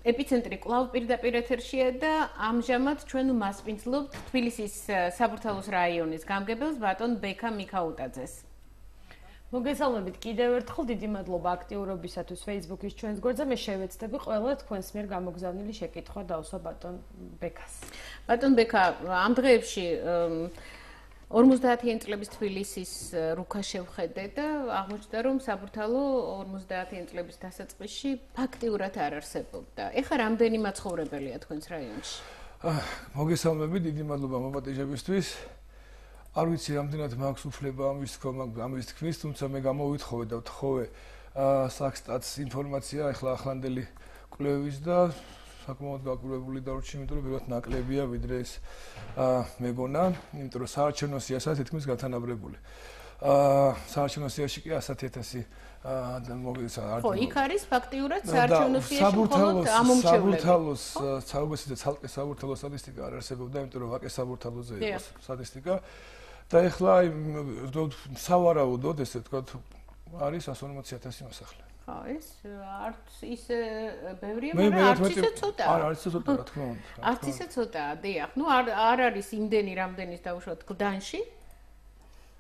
ეპიცენტრი კვლავ პირდაპირ ეთერშია და ამჟამად ჩვენ მასპინძლობთ თბილისის საბურთალოს რაიონის გამგებელს ბატონ ბექა მიქაუტაძეს. მოგესალმებით კიდევ ერთხელ დიდი მადლობა აქტიურობისათვის Facebook-ის ჩვენს გვერდზე. მე შევეცდები ყველა თქვენს მიერ გამოგზავნილი შეკითხვა დავსვა ბატონ ბექას. ბატონ ბექა, ამ დღეებში 50-იანი წლების თბილისის რუქა შევხედე და აღმოჩნდა, რომ საბურთალო 50-იანი წლების დასაწყისში ფაქტიურად არ არსებობდა. ეხლა რამდენი მაცხოვრებელია თქვენს რაიონში? მოგესალმებით, დიდი მადლობა მოპატიჟებისთვის. არ ვიცი, რამდენად მაქვს უფლება ამის თქმის, თუმცა მე გამოვითხოვე და ვთხოვე საქსტატს ინფორმაცია ახლა ახლანდელი კვლევის და საკმაოდ გაკვირვებული დარჩი, იმიტომ რომ ბევრად ნაკლებია ვიდრე ეს მეგონა, იმიტომ რომ საარჩევნო სიასაც თითქმის გათანაბრებული. საარჩევნო სიაში კი 100,000 მოგეცაა. ხო, იქ არის ფაქტიურად საარჩევნო სიაში მხოლოდ ამომრჩევლები. საბურთალოს და ცალკე საბურთალოს სტატისტიკა არ არსებობდა, იმიტომ რომ ვაკე საბურთალოზე იყო სტატისტიკა. და ეხლა სავარაუდოდ, ესე ვთქვათ, არის 150,000 მოსახლე. ხო, ეს არც ისე ბევრია, მაგრამ არც ისე ცოტაა. არც ისე ცოტაა, რა თქმა უნდა. არც ისე ცოტაა, დიახ. ნუ არ არის იმდენი, რამდენის დავუშვათ გლდანში.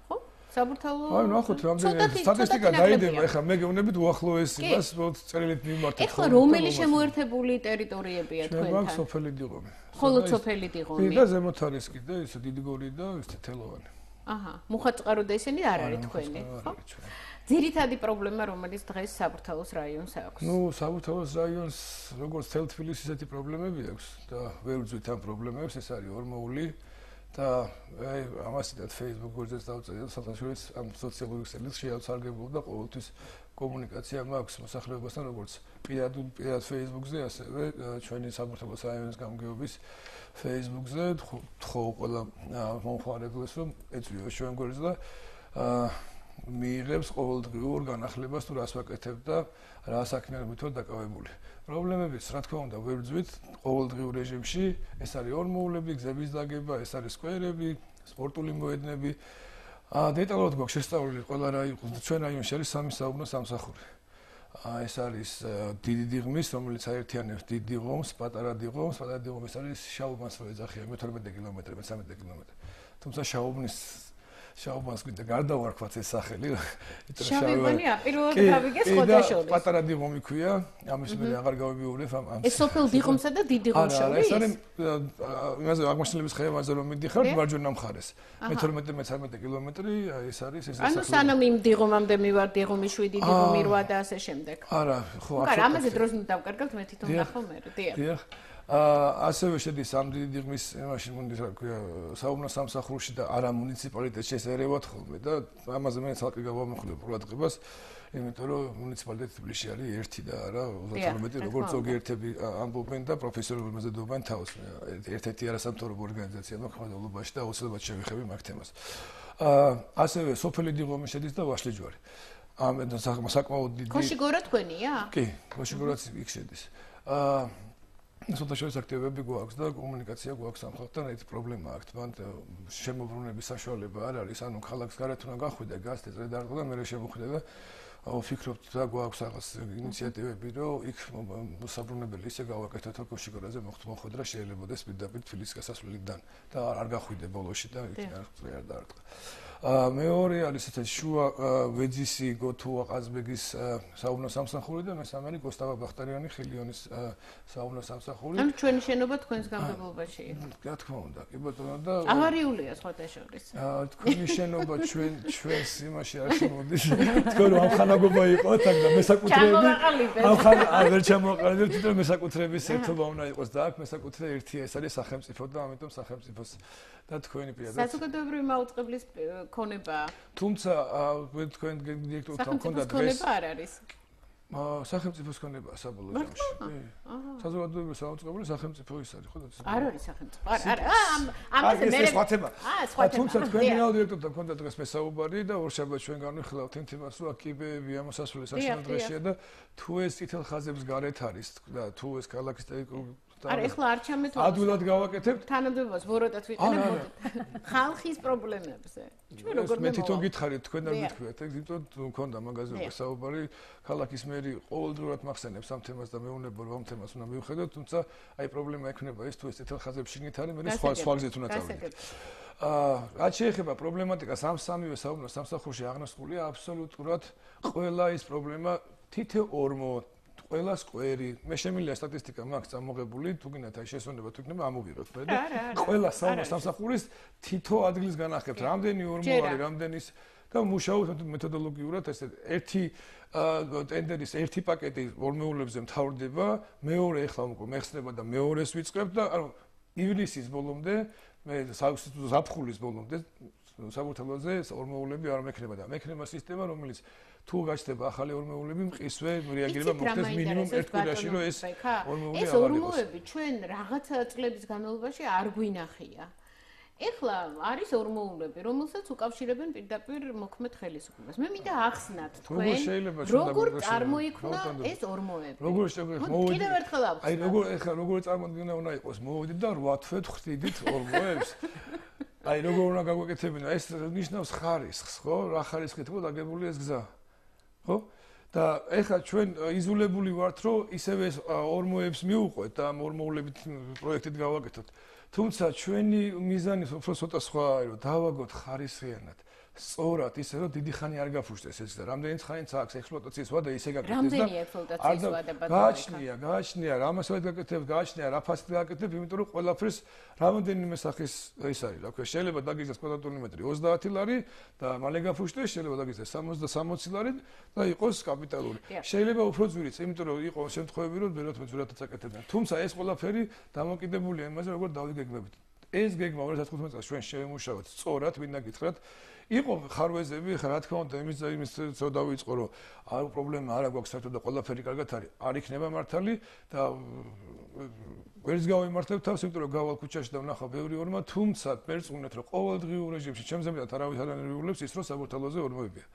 ხო? საბურთალო. აი, ნახოთ, რამდენი სტატისტიკა დაიდება, ეხლა მე გეუბნებით უახლოეს იმას, წერილით მიმართეთ. ეხლა რომელი შემოერთებული ტერიტორიებია თქვენთან? ჩვენ გვაქვს სოფელი დიღომი. ხოლო სოფელი დიღომი. და ზემოთ არის კიდე ისე დიდი გორი და ის თელოვანი. აჰა, მუხაწყარო და ისინი არ არის თქვენი, ხო? ძირითადი პრობლემა, რომელიც დღეს საბურთალოს რაიონს აქვს. ნუ, საბურთალოს რაიონს როგორც თელ თბილისის ისეთი პრობლემები აქვს და ვერ ვძვით ამ პრობლემებს, ეს არის ორმოული და აი ამასითაც Facebook გვერდზეც დავწერე და საერთაშორისო ამ სოციალური ქსელის შეავსარგებლობ და ყოველთვის კომუნიკაცია მაქვს მოსახლეობასთან, როგორც პირად Facebook-ზე, ასევე ჩვენი საბურთალოს რაიონის გამგეობის Facebook-ზე, თხოვ ყველა მომხმარებელს, რომ ეწვიოს ჩვენ გვერდს და მიიღებს ყოველდღიურ განახლებას თუ რას ვაკეთებ და რა საქმიანობით ვარ დაკავებული. პრობლემებიც, რა თქმა უნდა, ვერ ვძვით ყოველდღიურ რეჟიმში, ეს არის ორმოულები, გზების დაგება, ეს არის სკვერები, სპორტული მოედნები. დეტალურად გვაქვს შესწავლილი ყველა რაიონი, ჩვენ რაიონში არის 3 საუბნო სამსახური. ეს არის დიდი დიღმის, რომელიც აერთიანებს დიდ დიღომს, პატარა დიღომს, პატარა დიღომის არის შაუბანს რო ეძახიან 12 კილომეტრი, 13 კილომეტრი. თუმცა შაუბანს კიდე გარდავარქვათ ეს სახელი, იმიტომ რომ შაუბანი აპირებად გავიგეს ხოთაშორის. პატარა დიღომი ქვია, ამის მე აღარ გავიბიურებ ამ. ეს სოფელ დიღომსა და დიდ დიღომს შორის? ეს არის იმაზე აღმაშენებლების ხეებაზე რომ მიდიხარ მარჯვენა მხარეს. 12-13 კილომეტრი, ეს არის ეს სახელი. ანუ სანამ იმ დიღომამდე მივარ, დიღომი 7, დიღომი 8 და ასე შემდეგ. არა, ხო, აბსოლუტურად. ამაზე დროს დავკარგავთ მე თვითონ ნახო მე, დიახ. ასევე შედის ამ დიდი დიღმის იმაში მონდის რა ქვია საუბნო სამსახურში და არა მუნიციპალიტეტში ეს ერევათ ხოლმე და ამაზე მე ცალკე გავამახვილებ ყურადღებას, იმიტომ რომ მუნიციპალიტეტი თბილისში არის ერთი და არა 32 როგორც ზოგიერთები ამბობენ და პროფესიონალურად მეზობენ თავს. ერთ-ერთი არასამთავრობო ორგანიზაცია მოქმედობაში და აუცილებლად შევეხები მაგ თემას. ასევე სოფელი დიღომი შედის და ვაშლიჯვარი. ამ საკმაოდ დიდი ქოშიგორა თქვენია? კი, ქოშიგორაც იქ შედის. სოციალური აქტივობები გვაქვს და კომუნიკაცია გვაქვს ამ ხალხთან, ერთი პრობლემა აქვს, მან შემოbrunების საშუალება არ არის, ანუ ქალაქს გარეთ უნდა გახვიდე, გასწრე დარტყა და მე შემოხვიდე და ვფიქრობთ და გვაქვს რაღაც ინიციატივები, რომ იქ მოსაბრუნებელი ისე გავაკეთოთ, რომ ქოშიგორაზე მოხვედრა შეიძლებადეს პირდაპირ თბილისის გასასვლელიდან და არ გახვიდე ბოლოში და იქ არ დარტყა. მეორე არის ესეთი შუა ვეძისი გოთუა ყაზბეგის საუბნო სამსახური და მესამე არის გოსტავა ბახტარიანი ხილიონის საუბნო სამსახური. ანუ ჩვენი შენობა თქვენს გამგებლობაშია. რა თქმა უნდა, კი ბატონო და ავარიულია სხვადასხვა. თქვენი შენობა ჩვენს იმაში არ შემოდის. თქვენ რომ ამხანაგობა იყოთ აქ და მესაკუთრეები არ ვერ ჩამოაყალიბებთ, თვითონ მესაკუთრეების ერთობა უნდა იყოს და აქ მესაკუთრე ერთია, ეს არის სახელმწიფო და ამიტომ სახელმწიფოს და თქვენი პირადად საზოგადოებრივი მაუწყებლის ქონება. თუმცა თქვენ დირექტორთან ქონდა დღეს ქონება არ არის. სახელმწიფოს ქონება საბოლოო ჯამში. საზოგადოებრივი საუწყებელი სახელმწიფო ის არის, ხო და არ არის სახელმწიფო. ამაზე მე სხვა თემა. თუმცა თქვენ დირექტორთან ქონდა დღეს მესაუბარი და ორშაბათს ჩვენ განვიხილავთ იმ თემას, რომ კიბეები ამოსასვლელი საშუალო დღეშია და თუ ეს წითელ ხაზებს გარეთ არის და თუ ეს ქალაქის არა, ეხლა არ ჩამეთვალოს. ადვილად გავაკეთებთ. თანამდებობას ვოროტად ვიყენებ ხალხის პრობლემებზე. ჩვენ როგორ მე თვითონ გითხარით თქვენ და გითხრათ, იმიტომ მქონდა მაგაზე საუბარი, ქალაქის მერი ყოველდღურად მახსენებს ამ თემას და მეუბნება რომ ამ თემას უნდა მივხედოთ, თუმცა აი პრობლემა ექნება ის თუ ეს წითელ ხაზებში შიგნით არის, მე სხვა გზით უნდა წავიდეთ. რაც შეეხება პრობლემატიკას ამ სამივე საუბრის სამსახურში აღნასყულია აბსოლუტურად ყველა ის პრობლემა თითო ორმო ყველა სკვერი მე შემიძლია სტატისტიკა მაქვს წამოღებული თუ გინდათ აი შესვენება თუ იქნება ამოვიღოთ მე და ყველა სამსახურის თითო ადგილს განახებთ რამდენი ორმო არის რამდენის და მუშაობთ მეთოდოლოგიურად ესე ერთი ტენდერის ერთი პაკეტი ორმოულებზე მთავრდება მეორე ეხლა უკვე მეხსნება და მეორეს ვიწყებ და ანუ ივლისის ბოლომდე მე ზაფხულის ბოლომდე საბუთალოზე ორმოულები არ მექნება და მექნება სისტემა რომელიც თუ გაჩნდება ახალი ორმოულები მყისვე რეაგირება მოხდეს მინიმუმ ერთ კვირაში რომ ეს ორმოული ეს ორმოები ჩვენ რაღაცა წლების განმავლობაში არ გვინახია ეხლა არის ორმოულები რომელსაც უკავშირებენ პირდაპირ მოქმედ ხელისუფლებას მე მინდა ახსნათ თქვენ როგორ წარმოიქმნა ეს ორმოები როგორ შემოვიდი კიდევ ერთხელ აი როგორ ეხლა როგორ წარმოდგენა უნდა იყოს მოვიდით და 8 თვე ხვდით ორმოებს აი როგორ უნდა გაგვეკეთებინა ეს ნიშნავს ხარისხს ხო რა ხარისხით ხო დაგებული ეს გზა ხო და ეხლა ჩვენ იზოლებული ვართ რომ ისევ ეს ორმოებს მივუყვეთ და ამ ორმოულებით პროექტით გავაკეთოთ თუმცა ჩვენი მიზანი უფრო ცოტა სხვა არის რომ დავაგოთ ხარისხიანად სწორად ისე რომ დიდი ხანი არ გაფუშტეს ეს და რამდენი ხანიც აქვს ექსპლუატაციის ვადა ისე გაკეთდეს და რამდენი ექსპლუატაციის ვადება გააჩნია რა მასალად გაკეთებ გააჩნია რა ფასით გაკეთებ იმიტომ რომ ყველაფერს რამდენიმე სახის ის არის რა ქვია შეიძლება დაგიძეს კვადრატული მეტრი 30 ლარი და მალე გაფუშტეს შეიძლება დაგიძეს 60 ლარი და იყოს კაპიტალური შეიძლება უფრო ძვირიც იმიტომ რომ იყო შემთხვევები რომ ძვირადაც აკეთებდნენ თუმცა ეს ყველაფერი დამოკიდებულია იმაზე როგორ დავიგეგმებით ეს გეგმა 2015 წელს ჩვენ შევემუშავეთ სწორად მინდა გითხრათ იყო ხარვეზები ხა რა თქმა უნდა იმის ცოტა დავიწყო რომ არ პრობლემა არა გვაქვს საერთოდ და ყველაფერი კარგად არის არ იქნება მართალი და ვერც გავიმართებ თავს იმიტომ რომ გავალ ქუჩაში და ვნახავ ბევრი ორმო თუმცა მერწმუნეთ რომ ყოველდღიურ რეჟიმში ჩემზე მეტად არავის არ ანერვიულებს ის რომ საბურთალოზე ორმოებია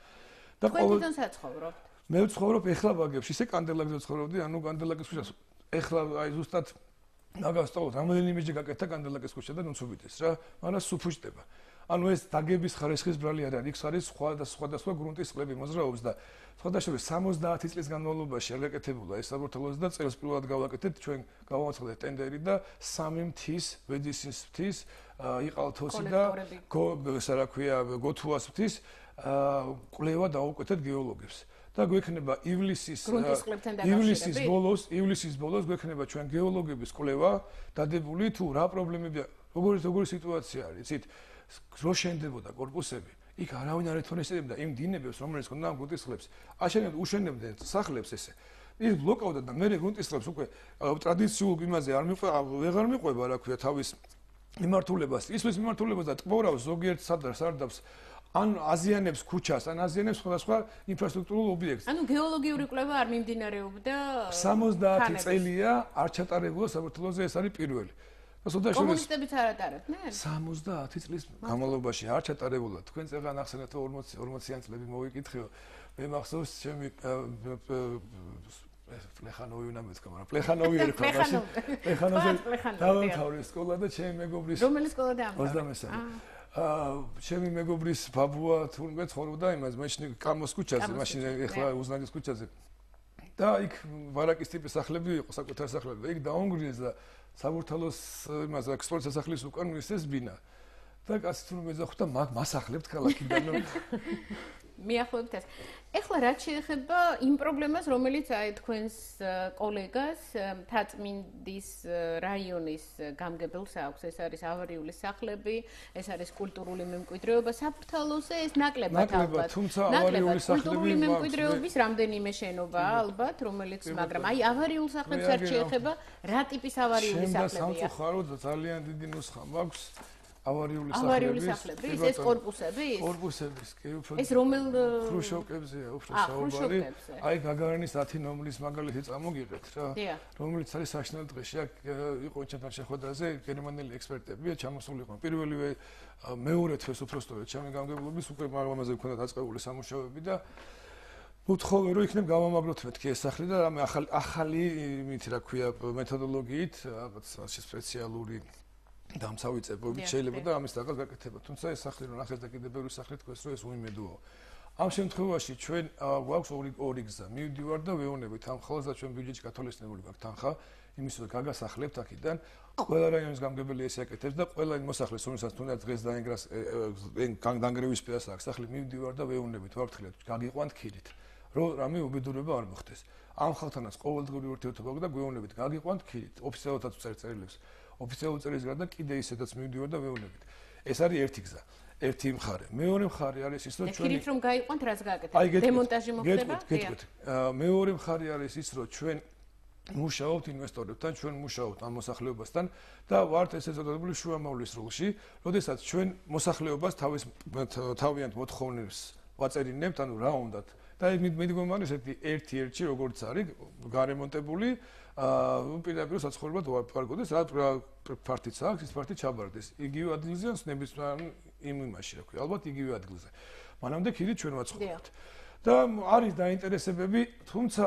და ყოველდღიურად საცხოვრობთ მე ვცხოვრობ ეხლა ბაგებში ისე კანდელაკზე ვცხოვრობდი ანუ კანდელაკის ქუჩას ეხლა აი ზუსტად ნაგავსტაოთ რამდენიმეჯერ გაკეთდა კანდელაკის ქუჩა და ნუცუბიდეს რა მაგრამ სუფუჭდება ანუ ეს დაგების ხარისხის ბრალი არ არის, იქ არის სხვადასხვა გრუნტის წყლები მოძრაობს და სხვადასხვა 70 წლის განმავლობაში არ გაკეთებულა ეს საბურთალოზე და წელს პირველად გავაკეთეთ ჩვენ გავამოცხადეთ ტენდერი და 3 მთის, ვედისის მთის, იყალთოსი და რა ქვია, გოთუას მთის კვლევა დაუკვეთეთ გეოლოგებს. და გვექნება ივლისის ბოლოს გვექნება ჩვენ გეოლოგების კვლევა დადებული თუ რა პრობლემებია, როგორი სიტუაცია არის, იცით? რო შენდებოდა კორპუსები, იქ არავინ არ ეთონესებდა იმ დინებებს, რომელიც ქონდა ამ გუნტისხლებს. აშენებდნენ, უშენებდნენ სახლებს ესე. ის ბლოკავდა და მე გუნტისხლებს უკვე ტრადიციულ იმაზე ვეღარ მიყვება, რა ქვია, თავის მიმართულებას. ისმის მიმართულებას და ტყორავს ზოგიერთ სარდაფს ან აზიანებს ქუჩას, ან აზიანებს სხვადასხვა ინფრასტრუქტურულ ობიექტს. ანუ გეოლოგიური კვლევა არ მიმდინარეობდა 70 წელია არ ჩატარებულა საბურთალოზე ეს არის პირველი. კომუნისტებიც არ ატარებდნენ? 70 წლის განმავლობაში არ ჩატარებულა. თქვენ წეგან ახსენეთ 40-იან წლები მოვიკითხეო. მე მახსოვს ჩემი პლეხანოვი უნდა მეთქვა, მაგრამ პლეხანოვი ერქვა მაშინ. პლეხანოვი დავამთავრე სკოლა და ჩემი მეგობრის რომელი სკოლა დაამთავრე? 23. ჩემი მეგობრის ბაბუა თურმე ცხოვრობდა იმას, მაშინ კამოს ქუჩაზე, მაშინ ეხლა უზნადის ქუჩაზე. და იქ ვარაკის ტიპის სახლები იყო, საკუთარ სახლები. იქ დაუნგრიეს და საბურთალოს იმას ექსპლუატაციის სახლის უკან მისცეს ბინა. და კაცი თურმე ეძახდა მას ახლებთ ქალაქიდან. მიახლოებით ეს. ეხლა რაც შეეხება იმ პრობლემას, რომელიც აი თქვენს კოლეგას მთაწმინდის რაიონის გამგებელს აქვს, ეს არის ავარიული სახლები, ეს არის კულტურული მემკვიდრეობა, საბურთალოზე ეს ნაკლებად ალბათ. თუმცა ავარიული სახლები კულტურული მემკვიდრეობის რამდენიმე შენობაა ალბათ, რომელიც მაგრამ აი ავარიულ სახლებს არ შეეხება, რა ტიპის ავარიული სახლებია? სამწუხაროდ ძალიან დიდი ნუსხა მაქვს. ავარიული სახლები, ეს კორპუსები? კორპუსების, კი, უფრო. ეს რომელ ხრუშოვკებზეა, უფრო საუბარი. აი გაგარანის 10 ნომრის მაგალითი წამოგიღეთ რა. რომელიც არის საშინელ დღეში. აქ იყო ჩემთან შეხვედრაზე გერმანელი ექსპერტები, ჩამოსული იყვნენ. პირველივე მეორე თვეს უბრალოდ ჩემი გამგებლობის უკვე ამაზე მქონდა დაწყებული სამუშაოები და უთხოვე რომ იქნებ გამომაგროთ მეთქი ეს სახლი და რამე ახალი იმით რა ქვია მეთოდოლოგიით რაღაც სპეციალური დამცავიწებობით შეიძლება და ამის დაგას გაკეთება. თუმცა ეს სახლი რომ ნახეთ და კიდე ბევრი სახლი თქვენს რომ ეს უიმედოა. ამ შემთხვევაში ჩვენ გვაქვს ორი გზა. მივდივარ და ვეუბნებით ამ ხოლმე და ჩვენ ბიუჯეტში გათვალისწინებული გვაქვს თანხა, იმის რომ გაგასახლებთ აქედან. ყველა რაიონის გამგებელი ეს აკეთებს და ყველა მოსახლეს რომელსაც თუნდაც დღეს დაინგრას დანგრევის პირას აქვს სახლი მივდივარ და ვეუბნებით ვაფრთხილეთ გაგიყვანთ ქირით. რომ რამე უბედურება არ მოხდეს. ამ ხალხთანაც ყოველდღიური ურთიერთობა და გვეუბნებით გაგიყვანთ ქირით. ოფიციალურად წერილ წერილებს. ოფიციალურ წერილს გარდა კიდე ისედაც მივდივარ და ვეუბნებით. ეს არის ერთი გზა. ერთი მხარე. მეორე მხარე არის ის, რომ ჩვენ ქირით რომ გაიყვანთ, რაც გააკეთებთ? დემონტაჟი მოხდება? გეტყვით. მეორე მხარე არის ის, რომ ჩვენ მუშაობთ ინვესტორებთან, ჩვენ მუშაობთ ამ მოსახლეობასთან და ვართ ესე წოდებული შუამავლის როლში, როდესაც ჩვენ მოსახლეობას თავიანთ მოთხოვნებს ვაწერინებთ, ანუ რა უნდათ. და მიდგომარი ერთ-ერთი როგორც არის გარემონტებული პირდაპირ საცხოვრებლად ვარგოდეს, რა ფართიც აქვს, ის ფართი ჩაბარდეს. იგივე ადგილზე ნებისმიერ იმაში, რა ქვია, ალბათ იგივე ადგილზე. მანამდე ქირით ჩვენ ვაცხოვრებთ. და არის დაინტერესებები, თუმცა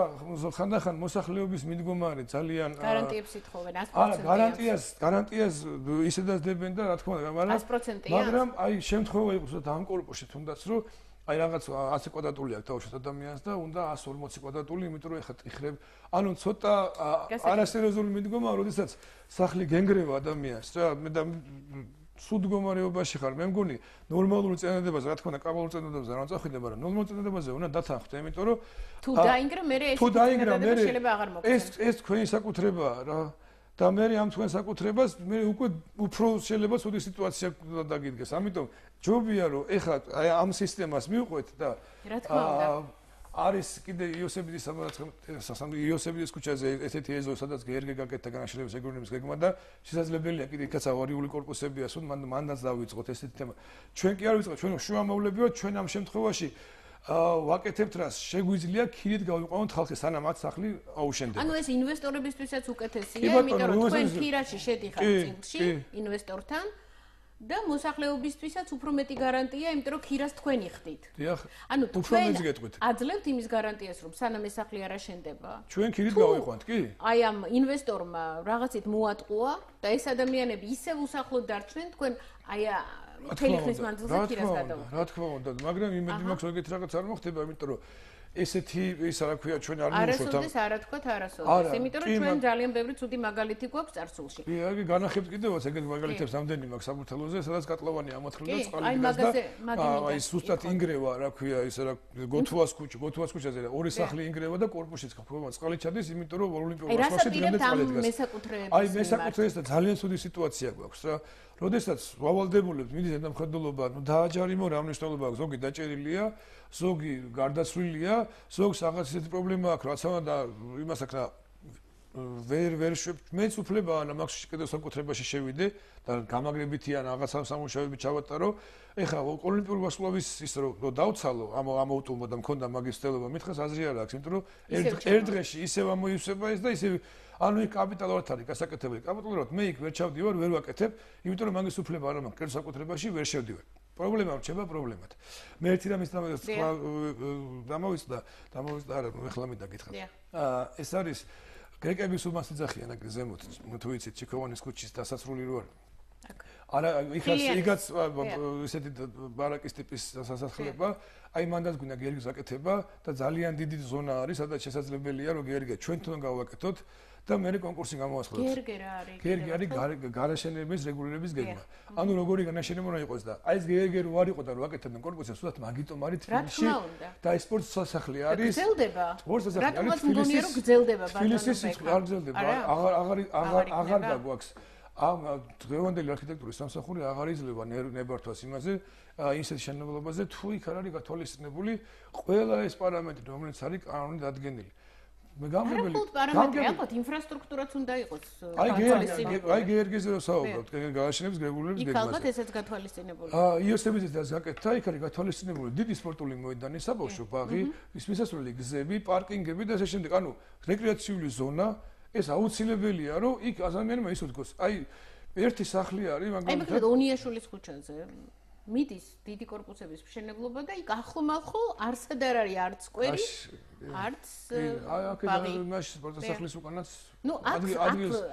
ხანდახან მოსახლეობის მიდგომარი ძალიან გარანტიებს ითხოვენ 100%. არა, გარანტიას ისედაც დებენ და რა თქმა უნდა, 100%-ია. მაგრამ აი შემთხვევა იყოს და ამ კორპუსში თუნდაც რომ აი რაღაც 100 კვადრატული აქვს თავშოთ ადამიანს და უნდა 140 კვადრატული, იმიტომ რომ ეხლა ტიხრებ, ანუ ცოტა არასერიოზული მიდგომაა, როდესაც სახლი გენგრევა ადამიანს რა, მე და სულ მდგომარეობაში ხარ, მე მგონი ნორმალური წინადადებაზე, რა თქმა უნდა, კაბალურ წინადადებაზე არ წახვიდე, მაგრამ ნორმალურ წინადადებაზე უნდა დათანხმდე, იმიტომ რომ თუ დაინგრა მე ეს წინადადება შეიძლება აღარ მოგწეს. ეს თქვენი საკუთრებაა რა. და მე ამ თქვენ საკუთრებას მე უკვე უფრო შეიძლება ცუდი სიტუაცია დაგიდგეს. ამიტომ ჯობია რომ ეხლა აი ამ სისტემას მივყვეთ და რა თქმა უნდა არის კიდე იოსებიძის იოსებიძის ქუჩაზე ესეთი ეზო სადაც გერგე გაკეთდა განაშენების ეგრონიმის გეგმა და შესაძლებელია კიდე იქაც ავარიული კორპუსებია სულ მანდაც დავიწყოთ ესეთი თემა. ჩვენ კი არ ვიწყოთ, ჩვენ შუამავლები ვართ, ჩვენ ამ შემთხვევაში ვაკეთებთ რას შეგვიძლია ქირით გავიყვანოთ ხალხი სანამ მათ სახლი აუშენდება. ანუ ეს ინვესტორებისთვისაც უკეთესია, იმიტომ რომ თქვენ ქირაში შედიხართ წილში ინვესტორთან და მოსახლეობისთვისაც უფრო მეტი გარანტია, იმიტომ რომ ქირას თქვენ იხდით. დიახ. ანუ უფრო მეც გეტყვით. აძლევთ იმის გარანტიას, რომ სანამ ეს სახლი არ აშენდება. ჩვენ ქირით გავიყვანთ, კი? აი ამ ინვესტორმა რაღაცით მოატყუა და ეს ადამიანები ისევ უსახლოდ დარჩნენ, თქვენ აი მთელი ხნის მანძილზე ქირას გადავუხდით. რა თქმა უნდა, მაგრამ იმედი მაქვს რომ ეგეთი რაღაც არ მოხდება, იმიტომ რომ ესეთი ის რა ქვია ჩვენ არ მივუშვათ ამ არასოდეს არა თქვათ არასოდეს, იმიტომ რომ ჩვენ ძალიან ბევრი ცუდი მაგალითი გვაქვს წარსულში. კი, აი განახებთ კიდევაც ეგეთ მაგალითებს ამდენი მაქვს საფურთელოზე, სადაც კატლოვანი ამოთხრილ და წყალი დგას და აი სუსტად ინგრევა, რა ქვია, ის რა გოთუას ქუჩაზე ორი სახლი ინგრევა და კორპუსშიც ხდება წყალი ჩადის, იმიტომ რომ ოლიმპიურ ვარსკვლავში დღემდე წყალი დგას. აი მესაკუთრეებს და ძალიან ცუდი სიტუაცია გვაქვს რა. როდესაც ვალდებულებს მიდის ემხედველობა, ნუ დააჯარიმო რა მნიშვნელობა აქვს, ზოგი დაჭერილია, ზოგი გარდაცვლილია, ზოგს რაღაც ისეთი პრობლემა აქვს, რაც და იმას აქვს რა ვერ მეც უფლებაა და მაქვს კიდევ საკუთრებაში შევიდე და გამაგრებითია რაღაც სამუშაოები ჩავატარო. ეხლა ოლიმპიური ვარსკვლავის ის რომ დავცალო ამ აუტომობა და მქონდა მაგის ცდელობა, მითხეს აზრი არ აქვს, იმიტომ რომ ერთ დღეში ისევ ამოივსება ეს და ისევ ანუ იქ კაპიტალურად არის გასაკეთებელი. კაპიტალურად მე იქ ვერ ჩავდივარ, ვერ ვაკეთებ, იმიტომ რომ მაგის უფლება არ მაქვს, კერძო საკუთრებაში ვერ შევდივარ. პრობლემა რჩება პრობლემად. მე ერთი რამის დამოვიცდა არა, ეხლა მინდა გითხრათ. ეს არის გრეკების უმასიძახიან აქ ზემოთ, თუ იცით, ჩიქოვანის ქუჩის დასასრული რო არის. არა, იქაც ესეთი ბარაკის ტიპის სასახლება, აი მანდაც გვინდა გერგის აკეთება და ძალიან დიდი ზონა არის, სადაც შესაძლებელია რომ გერგე ჩვენ თვითონ გავაკეთოთ და მე კონკურსი გამოვასწროთ. გერგე რა არის? გერგე არის გარაშენების რეგულირების გეგმა. ანუ როგორი განაშენება უნდა იყოს და აი ეს გერგე რო არ იყო და რო აკეთებდნენ კონკურსი, სულაც მაგიტომ არის თბილისში და აი სპორტ სასახლე არის. გრძელდება. სპორტ სასახლე არის თბილისში. რომ გრძელდება ბატონო. თბილისში არ გრძელდება. აღარ გაგვაქვს. ამ დღევანდელი არქიტექტურის სამსახური აღარ იძლევა ნებართვას იმაზე, ისეთ შენობაზე, თუ იქ არ არის გათვალისწინებული ყველა ეს პარამეტრი, რომელიც არის კანონით დადგენილი. მე გამგებელი ალბათ ინფრასტრუქტურაც უნდა იყოს გათვალისწინებული. აი გერგეზე რო საუბრობთ, გააშენების რეგულირების გეგმაზე. იქ ალბათ ესეც გათვალისწინებული. იოსებიძეც გაკეთდა, იქ არის გათვალისწინებული დიდი სპორტული მოედანი, საბავშვო ბაღი, ის მისასვლელი გზები, პარკინგები და ასე შემდეგ. ანუ რეკრეაციული ზონა ეს აუცილებელია, რომ იქ ადამიანმა ისო დგოს. აი ერთი სახლი არის, მაგრამ აი მეკრე ონიაშვილის ქუჩაზე. მიდის დიდი корпуსების მშენებლობა და იქ ახლო-მახლო არსად არ არის არც სკვერი, არც ბაღი. აი, მაშინ სპორტსახლის უკანაც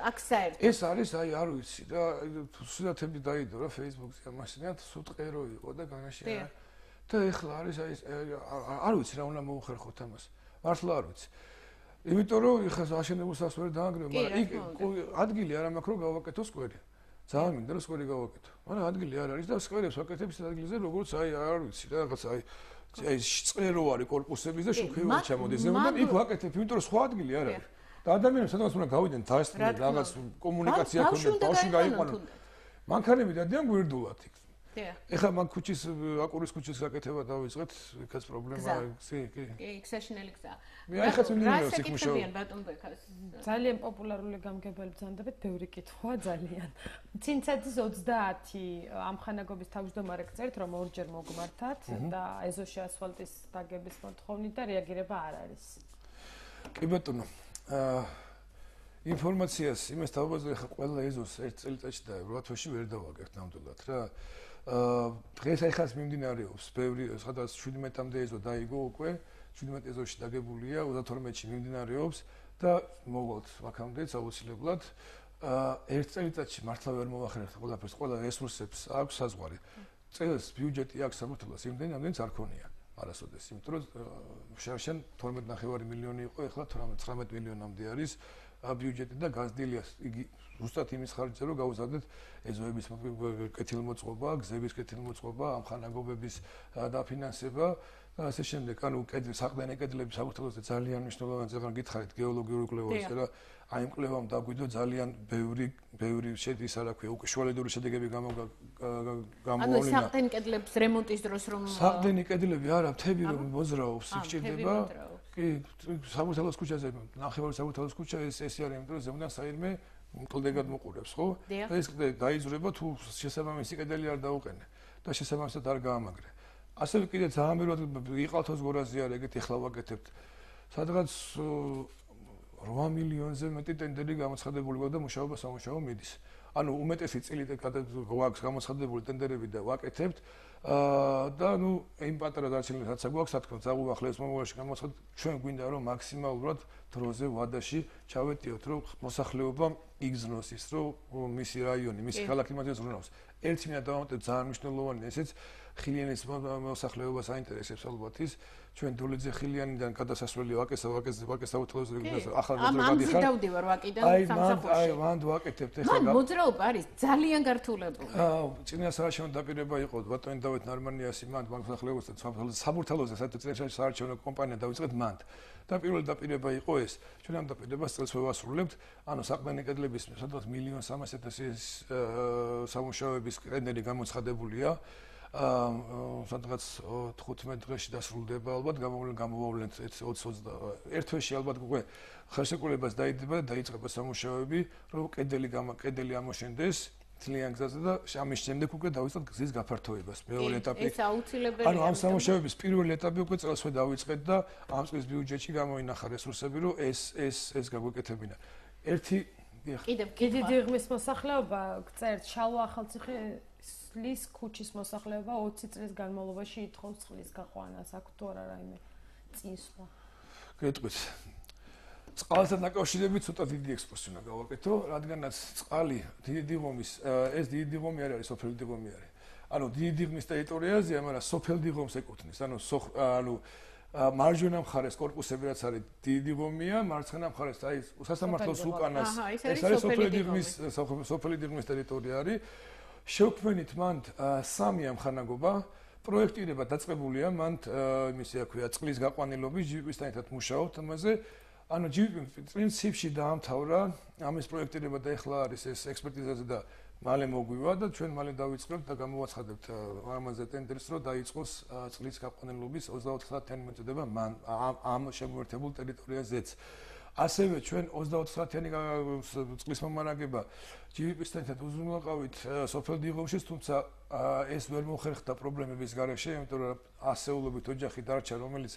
აქ საერთოდ ეს არის, აი, არ ვიცი და სურათები დაიდო რა Facebook-ზე, ამასინათ სუტყერო იყო და განაში არა. და ეხლა არის აი არ ვიცი რა უნდა მოუხერხოთ ამას. მართლა არ ვიცი. იმიტომ რომ ეხლა აშენებულ სახს ვერ დაანგრევ, მაგრამ იქ ადგილი არ მაქვს რომ გავაკეთო სკვერი. ძალიან მინდა რომ სკვერი გავაკეთო. მაგრამ ადგილი არ არის და სკვერებს ვაკეთებს ადგილზე როგორც აი არ ვიცი რა რაღაც აი წყერო არის корпуსების და შუქევა ჩამოდის ზემოდან იქ ვაკეთებ, იმიტომ რომ სხვა ადგილი არ არის. და ადამიანებს სადღაც უნდა გავიდნენ დაესწრნენ რაღაც კომუნიკაცია ქონდეს, ბავშვი გაიყვანონ. მანქანები დადიან გვერდულად იქ. ეხლა მან ქუჩის აკურის ქუჩის გაკეთება დავიწყეთ, იქაც პრობლემაა, კი. იქ საშინელი გზაა. მე ახაც მინდა იქ მუშაობ. ძალიან პოპულარული გამგებელი ბრძანდებით, ბევრი კითხვა ძალიან. ცინცაძის 30 ამხანაგობის თავმჯდომარე გწერთ, რომ ორჯერ მოგმართათ და ეზოში ასფალტის დაგების მოთხოვნით და რეაგირება არ არის. კი ბატონო. ინფორმაციას იმას დავაბაზრე ხა ყველა ეზოს ერთ წელიწადში და 8 თვეში ვერ დავაგებთ ნამდვილად რა. დღეს ახაც მიმდინარეობს ბევრი სადაც 17-მდე ეზო დაიგო უკვე 17 ეზოში დაგებულია 32-ში მიმდინარეობს და მოვალთ აქამდეც აუცილებლად ერთ წელიწადში მართლა ვერ მოვახერხეთ ყველაფერს ყველა რესურსებს აქვს საზღვარი წელს ბიუჯეტი აქვს საქართველოს იმდენი ამდენიც არ ქონია არასოდეს იმიტომ რომ შარშან 12.5 მილიონი იყო ეხლა 19 მილიონამდე არის ბიუჯეტი და გაზრდილია იგი ზუსტად იმის ხარჯზე რომ გავუზადეთ ეზოების კეთილმოწყობა, გზების კეთილმოწყობა, ამხანაგობების დაფინანსება და ასე შემდეგ. ანუ საყდენი კედლების საქართველოსზე ძალიან მნიშვნელოვანი ზეგან გითხარით გეოლოგიური კვლევას და აი იმ კვლევამ დაგვიდო ძალიან ბევრი შედის არა ქვია უკვე შუალედური შედეგები გამოვავლინა. ანუ საყდენი კედლების რემონტის დროს რომ საყდენი კედლები არა მთები რომ მოძრაობს იქ ჭირდება კი საბურთალოს ქუჩაზე ნახევარი საბურთალოს ქუჩა ეს არის იმიტომ რომ ზემოდან საირმე მკლდეგად მოყურებს ხო და ეს დაიძრება თუ შესაბამისი კედელი არ დაუყენე და შესაბამისად არ გაამაგრე ასევე კიდე ძალიან ბევრად იყალთოს გორაზე არ ეგეთ ეხლა ვაკეთებთ სადღაც 8 მილიონზე მეტი ტენდერი გამოცხადებული გვაქვს და მუშაობა სამუშაო მიდის ანუ უმეტესი წილი გვაქვს გამოცხადებული ტენდერები და ვაკეთებთ და ნუ იმ პატარა დარჩენილ რაც გვაქვს თქო ზაგუახლეს მომავალში გამოცხადეთ ჩვენ გვინდა რომ მაქსიმალურად დროზე ვადაში ჩავეტიოთ რომ მოსახლეობა იგზნოს ის რომ მისი რაიონი მისი ქალაქი მას ზრუნავს ერთი მინდა დავამატოთ ძალიან მნიშვნელოვანი ესეც ხილიანის მოსახლეობას აინტერესებს ალბათ ის ჩვენ დოლიძე ხილიანიდან გადასასვლელი ვაკეს აუთლოზე ახალ მოძრაობები ხარ დავდივარ ვაკიდან სამსახურში აი მანდ ვაკეთებთ ეხლა მან მოძრაობა არის ძალიან გართულებული წინასაარჩევნო დაპირება იყო ბატონი დავით ნარმანიასი მანდ მოსახლეობასთან საბურთალოზე საარჩევნო კომპანია დავიწყეთ მანდ და პირველი დაპირება იყო ეს ჩვენ ამ დაპირებას წელს ვევასრულებთ ანუ საყდენი კედლების სადღაც 1.300.000 სამუშაოების ტენდერი გამოცხადებულია სადღაც 15 დღეში დასრულდება ალბათ გამოვავლენთ 20 ერთ თვეში ალბათ უკვე ხელშეკრულებას დაიდება და დაიწყება სამუშაოები რომ კედელი ამოშენდეს ძალიან გზაზე და ამის შემდეგ უკვე დავიწყოთ გზის გაფართოებას მეორე ეტაპი ეს აუცილებელია ანუ ამ სამუშაოების პირველი ეტაპი უკვე წელსვე დავიწყეთ და ამ წლის ბიუჯეტში გამოინახა რესურსები რომ ეს გაგვეკეთებინა ერთი კიდე დიღმის მოსახლეობა გწერთ შალვა ახალციხის ქუჩის მოსახლეობა 20 წლის განმავლობაში ითხოვს წყლის გაყვანას აქ თუ არა რაიმე წინსვლა გეტყვით წყალთან დაკავშირებით ცოტა დიდი ექსკურსია უნდა გავაკეთო, რადგანაც წყალი დიდი დიღომის ეს დიდი დიღომი არ არის სოფელი დიღომი არის. ანუ დიდი დიღმის ტერიტორიაზეა, მაგრამ სოფელ დიღომს ეკუთვნის. ანუ მარჯვენა მხარეს корпуსები რაც არის დიდი დიღომია, მარცხენა მხარეს აი სასამართლოს უკანას ეს არის სოფელი დიღმის ტერიტორია არის. შევქმნით მანდ სამი ამხანაგობა პროექტირება დაწყებულია მანდ იმისი აქვია წყლის გაყვანილობის ჯიპისთან ერთად მუშაობთ ამაზე. ანუ პრინციპში დაამთავრა ამის პროექტირება და ეხლა არის ეს ექსპერტიზაზე და მალე მოგვივა და ჩვენ მალე დავიწყებთ და გამოვაცხადებთ ამაზე ტენდერს რომ დაიწყოს წყლის გაყვანილობის 24-საათიანი მოწოდება ამ შემოერთებულ ტერიტორიაზეც. ასევე ჩვენ 24-საათიანი წყლის მომარაგება ჯიპისთან ერთად უზრუნველყავით სოფელ დიღომშიც, თუმცა ეს ვერ მოხერხდა პრობლემების გარეშე, იმიტომ რომ ასეულობით ოჯახი დარჩა, რომელიც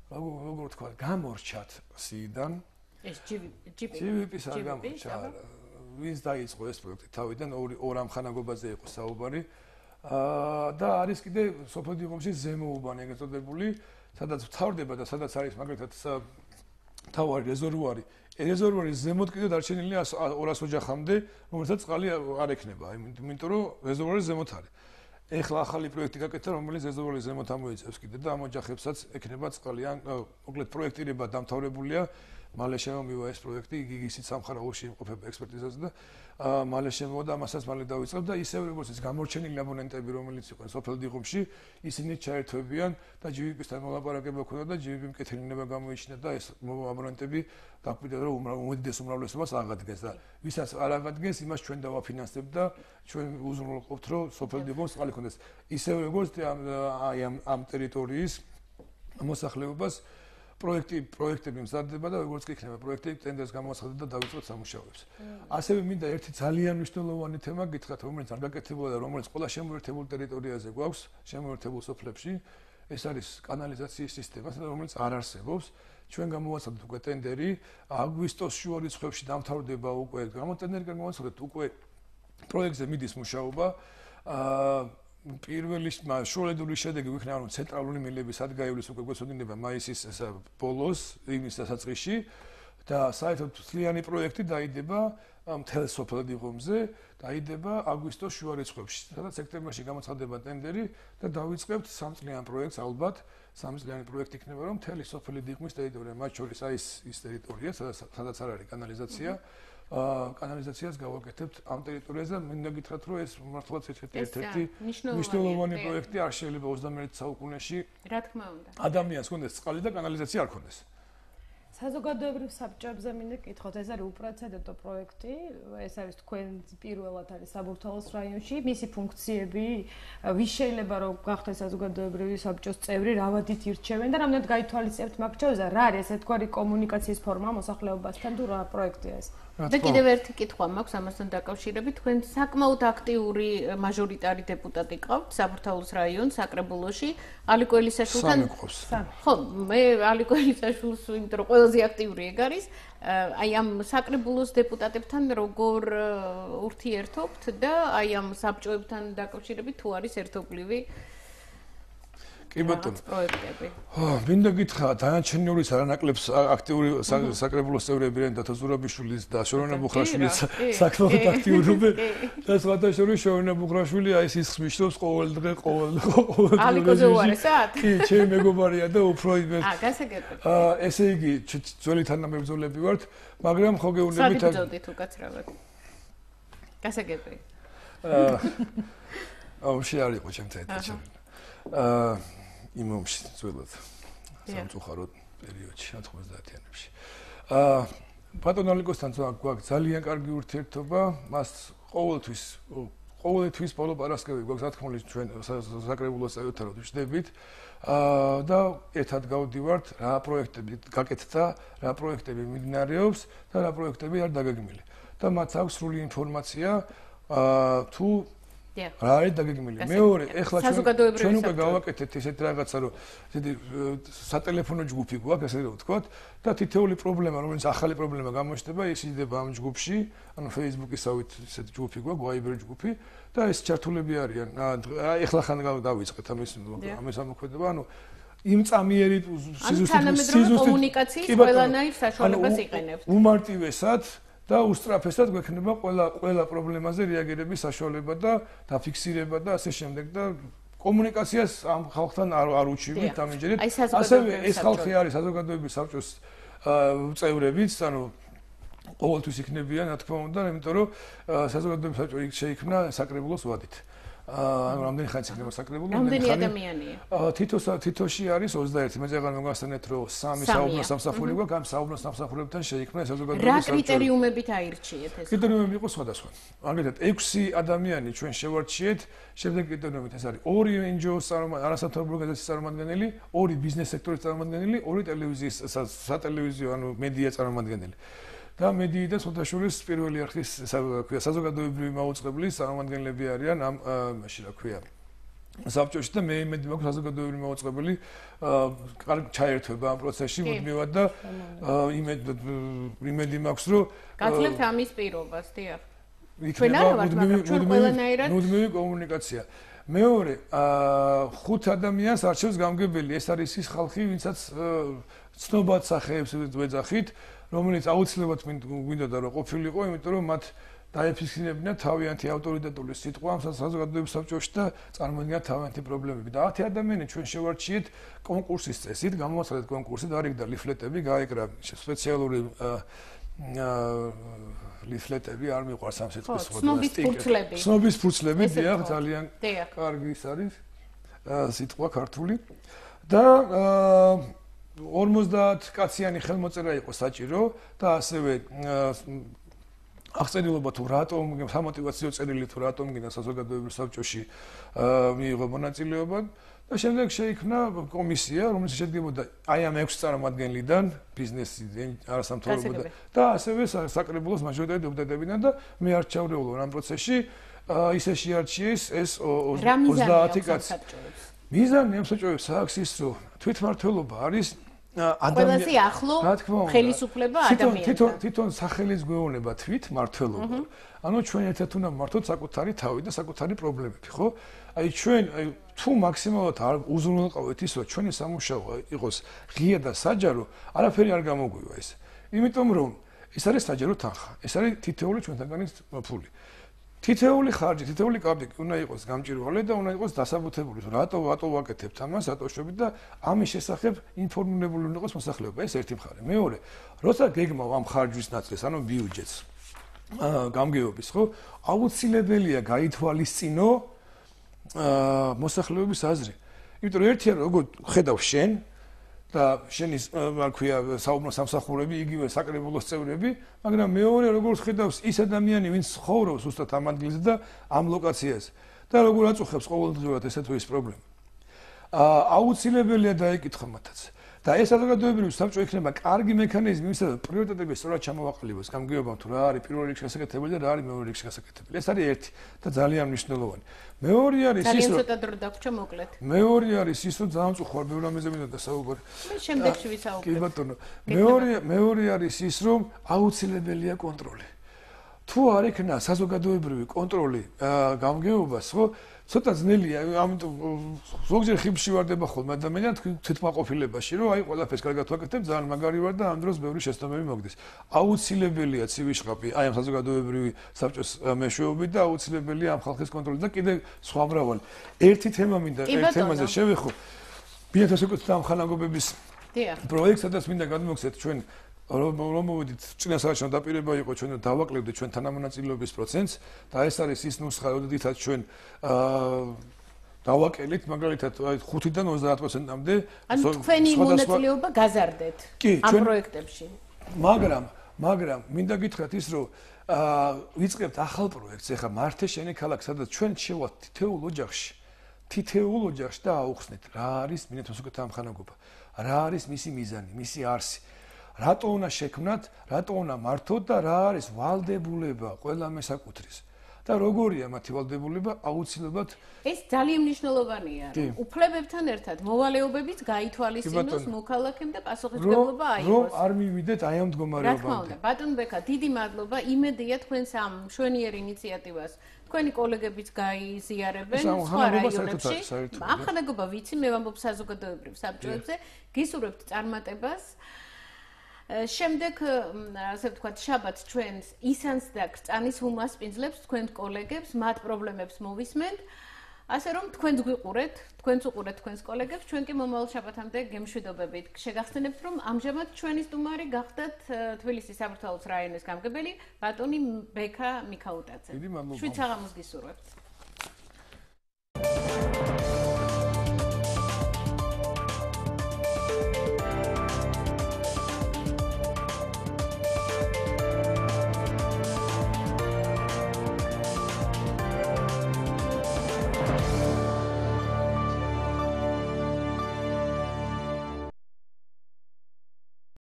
როგორ თქვა, გამორჩათ სიიდან. ეს ჯიპის არ გამორჩა. ვინც დაიწყო ეს პროექტი თავიდან ორ ამხანაგობაზე იყო საუბარი. და არის კიდე სოფელ დიღომში ზემოუბანი ეგრეთ წოდებული, სადაც ვთავრდება და სადაც არის მაგალითად თავარი რეზერვუარი. რეზერვუარის ზემოთ კიდე დარჩენილია 200 ოჯახამდე, რომელსაც წყალი არ ექნება, იმიტომ რომ რეზერვუარის ზემოთ არის. ეხლა ახალი პროექტი გაკეთდა, რომელიც რეზერვუარის ზემოთ ამოიწევს კიდე და ამ ოჯახებსაც ექნება წყალი. ან მოკლედ პროექტირება დამთავრებულია. მალე შემომივა ეს პროექტი, იგი ისიც სამხარაულში იმყოფება ექსპერტიზაზე და მალე შემოვიდა, ამასაც მალე დავიწყებ და ისევ როგორც ის გამორჩენილი აბონენტები, რომელიც იყვნენ სოფელ დიღომში, ისინი ჩაერთვებიან და GVP-სთან მოლაპარაკება ქონდა და GVP მკეთრინება გამოიჩინა და ეს აბონენტები დაგვიწყდა რომ უმეტეს უმრავლესობას აღადგენს და ვისაც არ აღადგენს, იმას ჩვენ დავაფინანსებთ და ჩვენ უზრუნველყოფთ, რომ სოფელ დიღომს წყალი ქონდეს. ისევ როგორც ამ ტერიტორიის მოსახლეობას პროექტები მზადდება და როგორც კი იქნება პროექტები ტენდერს გამოაცხადოთ და დავიწყოთ სამუშაოებს. ასევე მინდა ერთი ძალიან მნიშვნელოვანი თემა გითხრათ, რომელიც არ გაკეთებულა და რომელიც ყველა შემოერთებულ ტერიტორიაზე გვაქვს, შემოერთებულ სოფლებში, ეს არის კანალიზაციის სისტემა, რომელიც არ არსებობს. ჩვენ გამოაცხადეთ უკვე ტენდერი, აგვისტოს შუა რიცხვებში დამთავრდება უკვე გამოტენერი გამოაცხადეთ უკვე პროექტზე მიდის მუშაობა. პირველი შუალედური შედეგი ვიქნება რომ ცენტრალური მილების ადგაივლის უკვე გვეცოდინება მაისის ბოლოს, ივნის დასაწყისში და საერთოდ მთლიანი პროექტი დაიდება მთელ სოფელ დიღომზე, დაიდება აგვისტოს შუა რიცხვებში. სადაც სექტემბერში გამოცხადდება ტენდერი და დავიწყებთ 3 წლიან პროექტს ალბათ. 3 წლიანი პროექტი იქნება რომ მთელი სოფელი დიღმის ტერიტორია, მათ შორის აი ის ტერიტორია, სადაც არ არის კანალიზაცია. კანალიზაციას გავაკეთებთ ამ ტერიტორიაზე და მინდა გითხრათ რომ ეს მართლაც ერთ-ერთი მნიშვნელოვანი პროექტი არ შეიძლება 21 საუკუნეში რა თქმა უნდა ადამიანს ქონდეს წყალი და კანალიზაცია არ ქონდეს. საზოგადოებრივ საბჭოებზე მინდა გითხოთ, ეს არის უპრეცედენტო პროექტი, ეს არის თქვენ პირველად არის საბურთალოს რაიონში, მისი ფუნქციები, ვის შეიძლება რომ გახდეს საზოგადოებრივი საბჭოს წევრი, რა ვადით ირჩევენ და რამდენად გაითვალისწინებთ მაგ ჩავზე, რა არის ერთგვარი კომუნიკაციის ფორმა მოსახლეობასთან თუ რა პროექტია ეს? და კიდევ ერთი კითხვა მაქვს ამასთან დაკავშირებით, თქვენ საკმაოდ აქტიური მაჟორიტარი დეპუტატი ყავთ საბურთალოს რაიონის საკრებულოში, ალიკო ელისაშვილთან. ხო, მე ალიკო ელისაშვილს იმიტომ რომ ყველაზე აქტიური ეგ არის, აი ამ საკრებულოს დეპუტატებთან როგორ ურთიერთობთ და აი ამ საბჭოებთან დაკავშირებით თუ არის ერთობლივი კი ბატონო. პროექტები. მინდა გითხრა, დანარჩენიურის არანაკლებს აქტიური საკრებულოს წევრები რენ და ზურაბიშვილის და შორონა ბუხრაშვილის საკმაოდ აქტიურობენ. და სხვათა შორის შორონა ბუხრაშვილი აი ის ხმიშრობს ყოველ დღე, ყოველ ალიკოზე უარესად? კი, ჩემი მეგობარია და უფრო იმენ. გასაგებია. ესე იგი, ძველი თანამებრძოლები ვართ, მაგრამ ხო გეუბნებით სად ბრძოდით უკაცრავად? გასაგებია. ომში არ იყო ჩემთან ერთად. იმ ომში ძველად სამწუხაროდ პერიოდში 90-იანებში. ბატონ ალიკოსთან გვაქვს ძალიან კარგი ურთიერთობა, მას ყოველთვის ბოლო პარასკევი გვაქვს ათქმული ჩვენ საკრებულოს წევრებთან რომ ვშდებით და ერთად გავდივართ რა პროექტები გაკეთდა, რა პროექტები მიმდინარეობს და რა პროექტები არ დაგეგმილი. და მათ აქვს სრული ინფორმაცია თუ რა არის დაგეგმილი. მეორე, ეხლა ჩვენ უკვე გავაკეთეთ ესეთ რაღაცა, რომ ესეთი სატელეფონო ჯგუფი გვაქვს, ესე რომ ვთქვათ, და თითოეული პრობლემა, რომელიც ახალი პრობლემა გამოჩნდება, ის იდება ამ ჯგუფში, ანუ Facebook-ისავით ესეთი ჯგუფი გვაქვს, Viber ჯგუფი და ეს ჩართულები არიან. ეხლა ხან დავიწყეთ ამის ამოქმედება, ანუ იმ წამიერი სიზუსტე კომუნიკაციის ყველანაირ საშუალებას იყენებთ. უმარტივესად და უსწრაფესად გვექნება ყველა პრობლემაზე რეაგირების საშუალება და დაფიქსირება და ასე შემდეგ და კომუნიკაციას ამ ხალხთან არ უჩივით ამჯერად. ასევე ეს ხალხი არის საზოგადოების საბჭოს წევრებიც, ანუ ყოველთვის იქნებიან, რა თქმა უნდა, იმიტომ რომ საზოგადოების საბჭო შეიქმნა საკრებულოს ვადით. ანუ რამდენი ხანი იქნება საკრებულო? რამდენი ადამიანია? თითოში არის 21. მე ზეგან მოგასწრეთ რომ 3 საუბნო სამსახური გვაქვს, ამ საუბნო სამსახურებთან შეიქმნა საზოგადოების საბჭო. რა კრიტერიუმებით აირჩიეთ ეს? კრიტერიუმები იყო სხვადასხვა. მაგალითად 6 ადამიანი ჩვენ შევარჩიეთ, შემდეგ კრიტერიუმით ეს არის 2 NGO-ს არასამთავრობო ორგანიზაციის წარმომადგენელი, 2 ბიზნეს სექტორის წარმომადგენელი, 2 ტელევიზიის სატელევიზიო ანუ მედია წარმომადგენელი. და მედიიდან სხვადასხვა პირველი არხის საზოგადოებრივი მაუწყებლის წარმომადგენლები არიან ამ მაშინ რა ქვია საბჭოში და მე იმედი მაქვს საზოგადოებრივი მაუწყებელი კარგ ჩაერთვება ამ პროცესში მუდმივად და იმედი მაქვს რომ გაძლევთ ამის პირობას, დიახ. იქნება მუდმივი კომუნიკაცია. მეორე, 5 ადამიანს არჩევს გამგებელი. ეს არის ის ხალხი, ვინცაც ცნობად სახეებს ვეძახით, რომელიც აუცილებლად გვინდოდა რომ ყოფილიყო, იმიტომ რომ მათ დაეფიქსირებინა თავიანთი ავტორიტეტული სიტყვა ამ საზოგადოების საბჭოში და წარმოედგინა თავიანთი პრობლემები. და 10 ადამიანი ჩვენ შევარჩიეთ კონკურსის წესით, გამოვაცხადეთ კონკურსი, დაარიგდა ლიფლეტები, გაეკრა სპეციალური ლიფლეტები, არ მიყვარს ამ სიტყვის სიტყვები. ცნობის ფურცლები, დიახ, ძალიან კარგი ის არის სიტყვა ქართული. და 50 კაციანი ხელმოწერა იყო საჭირო და ასევე აღწერილობა თუ რატომ სამოტივაციო წერილი თუ რატომ გინდა საზოგადოებრივ საბჭოში მიიღო მონაწილეობა და შემდეგ შეიქმნა კომისია, რომელიც შედგებოდა აი ამ 6 წარმომადგენლიდან, ბიზნესი, არასამთავრობო და ასევე საკრებულოს მაჟორიტარი დეპუტატებიდან და მე არ ჩავრეულო ამ პროცესში, ისე შეარჩიეს ეს 30 კაცი. მიზანი ამ საბჭოებს აქვს ის, რომ თვითმმართველობა არის ყველაზე ახლო ხელისუფლება ადამიანთან. თვითონ სახელის გვეუბნება თვითმმართველობა. ანუ ჩვენ ერთად უნდა მართოთ საკუთარი თავი და საკუთარი პრობლემები, ხო? აი ჩვენ თუ მაქსიმალურად არ უზრუნველყავთ ის, რომ ჩვენი სამუშაო იყოს ღია და საჯარო, არაფერი არ გამოგვივა ეს. იმიტომ რომ ეს არის საჯარო თანხა. ეს არის თითოეული ჩვენთანგანი ფული. თითოეული ხარჯი, თითოეული კაპიკი უნდა იყოს გამჭირვალე და უნდა იყოს დასაბუთებული. რატო ვაკეთებთ ამას, რატო შვებით და ამის შესახებ ინფორმირებული უნდა იყოს მოსახლეობა. ეს ერთი მხარე. მეორე, როცა გეგმავ ამ ხარჯვის ნაწილს, ანუ ბიუჯეტს, გამგეობის, ხო? აუცილებელია გაითვალისწინო მოსახლეობის აზრი. იმიტომ რომ ერთია როგორ ხედავ შენ და შენის რა ქვია საუბნო სამსახურები, იგივე საკრებულოს წევრები, მაგრამ მეორე როგორ ხედავს ის ადამიანი, ვინც ცხოვრობს უბრალოდ ამ ადგილზე და ამ ლოკაციაზე და როგორ აწუხებს ყოველდღიურად ესე თუ ის პრობლემა. აუცილებელია დაეკითხა მათაც. და ეს საზოგადოებრივი საბჭო იქნება კარგი მექანიზმი, ვისაც პრიორიტეტები სწორად ჩამოვაყალიბოს გამგეობამ თუ რა არის პირველ რიგში გასაკეთებელი და რა არის მეორე რიგში გასაკეთებელი. ეს არის ერთი და ძალიან მნიშვნელოვანი. მეორე არის ის, რომ ცოტა დრო დაგვრჩა მოკლედ. მეორე არის ის, რომ ძალიან წუხარ ბევრ რამეზე მინდა დასაუბარი. მე შემდეგში ვისაუბრებ. კი ბატონო. მეორე არის ის, რომ აუცილებელია კონტროლი. თუ არ იქნა საზოგადოებრივი კონტროლი გამგეობას, ხო? ცოტა ძნელია, ამიტომ ზოგჯერ ხიბში ვარდება ხოლმე ადამიანად თვითმაყოფილებაში, რომ აი ყველაფერს კარგად ვაკეთებ, ძალიან მაგარი ვარ და ამ დროს ბევრი შეცდომები მოგდის. აუცილებელია ცივი აი ამ საზოგადოებრივი საბჭოს მეშვეობით და აუცილებელია ამ ხალხის კონტროლი და კიდე სხვა მრავალი. ერთი თემა მინდა ერთ თემაზე შევეხო. ბინათოს ეკუთვნა ამ ხანაგობების პროექტს, სადაც მინდა გადმოგცეთ ჩვენ რომ მოვიდით წინასაარჩევნო დაპირება იყო ჩვენ დავაკლებდით ჩვენ თანამონაწილეობის პროცენტს და ეს არის ის ნუსხა, როდესაც ჩვენ დავაკელით მაგალითად 5-დან 30%-მდე ანუ თქვენი მონაწილეობა გაზარდეთ ამ პროექტებში. მაგრამ მინდა გითხრათ ის, რომ ვიწყებთ ახალ პროექტს, ეხლა მართე შენი ქალაქ, სადაც ჩვენ შევალთ თითოეულ ოჯახში და აუხსნით რა არის მინათოსუკეთა ამხანაგობა, რა არის მისი მიზანი, მისი არსი. რატო უნდა შექმნათ, რატო უნდა მართოთ და რა არის ვალდებულება ყველა მესაკუთრის და როგორია მათი ვალდებულება აუცილებლად ეს ძალიან მნიშვნელოვანია რომ უფლებებთან ერთად მოვალეობებიც გაითვალისწინოს მოქალაქემ და პასუხისმგებლობა აიღოს რომ არ მივიდეთ აი ამ მდგომარეობამდე. რა თქმა უნდა, ბატონ ბექა, დიდი მადლობა, იმედია თქვენს ამ მშვენიერ ინიციატივას თქვენი კოლეგებიც გაიზიარებენ სხვა რაიონებში. ამხანაგობა ვიცი, მე ვამბობ საზოგადოებრივ საბჭოებზე, გისურვებთ წარმატებას. შემდეგ, ასე ვთქვათ, შაბათს ჩვენს ისანს და კრწანის უმასპინძლებს თქვენ კოლეგებს, მათ პრობლემებს მოვისმენთ. ასე რომ თქვენს გვიყურეთ, თქვენს უყურეთ თქვენს კოლეგებს, ჩვენ კი მომავალ შაბათამდე გემშვიდობებით. შეგახსენებთ, რომ ამჟამად ჩვენი სტუმარი გახდათ თბილისის საბურთალოს რაიონის გამგებელი ბატონი ბექა მიქაუტაძე. დიდი მადლობა. შვიდ საღამოს გისურვებთ.